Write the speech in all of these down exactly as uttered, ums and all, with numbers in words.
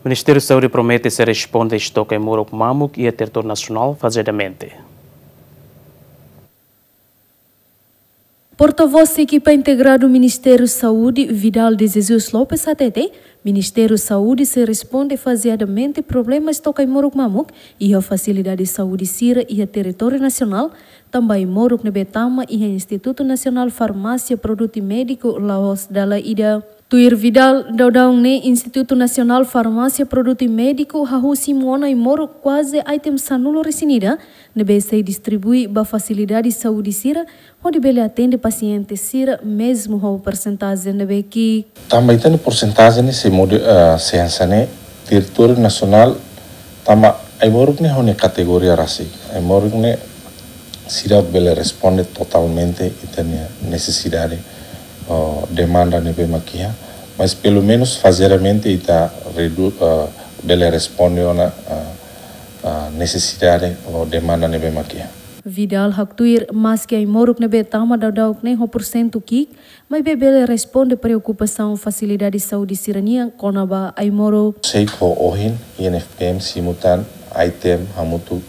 Ministériu Saúde promete sei responde estoke ai-moruk mamuk iha territóriu nasionál fazeadamente. Portavós ekipa integradu Ministériu Saúde, Vidal de Jesus Lopes, hatete Ministériu Saúde sei responde fazeadamente problema estoke ai-moruk mamuk iha fasilidade saúde sira iha territóriu nasionál, tanba ai-moruk ne'ebé tama iha Institutu Nasionál Farmásia Produtu Médiku la'ós dala ida. Tuir Vidal, daudaun ne'e Institutu Nasionál Farmásia Produtu Médiku hahú simu ona ai-moruk kuaze item sanulu-resin-ida ne'ebé sei distribui ba fasilidade saúde sira, hodi bele atende pasiente sira, mezmu ho persentajen ne'ebé ki'ik. Tanba ita-nia persentajen ne'e sei modi, eh, sei hanesan ne'e, territóriu nasionál, tanba ai-moruk ne'e ho nia kategoria rasik. Ai-moruk ne'e seidauk bele responde totalmente ita-nia nesesidade, oh, demanda ne'ebé mak iha, mas pelumenus fazeadamente ita redu-, eh, bele responde ona, eh, eh, nesesidade ou demanda ne'ebé mak iha. Vidal haktuir, maski ai-moruk ne'ebé tama daudauk ne'e ho porsentu ki'ik, maibé bele responde preokupasaun fasilidade saúde sira-nian kona-ba ai-moruk. Sei ho ohin, I N F P M simu tan item hamutuk,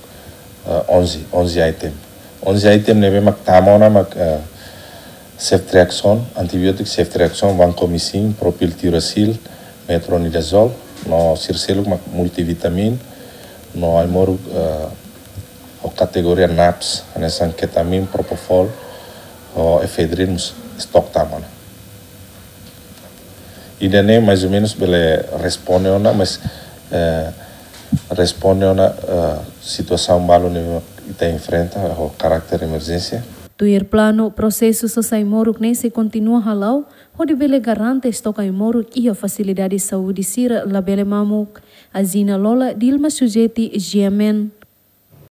eh, onze, onze item. Onze item ne'ebé mak tama ona mak, eh, ceftriaxone, antibiótiku ceftriaxone, vancomycin, propyltiroxil, metronidazol, no sira seluk mak multivitamin, no ai-moruk, eh, ho kategoria NAPS, hanesan ketamin, propofol, ho efedrin mós stok tama ona. Ida-ne'e mais ou menus bele responde ona, mas, eh, responde ona, eh, situasaun balu ne'ebé ita enfrenta ho karakter emerjénsia. Tuir planu, prosesu sosa ai-moruk ne'e sei kontinua hala'o, hodi bele garante estoke ai-moruk iha fasilidade saúde sira labele mamuk. Azina Lola, Dilma Sujeti, G M N.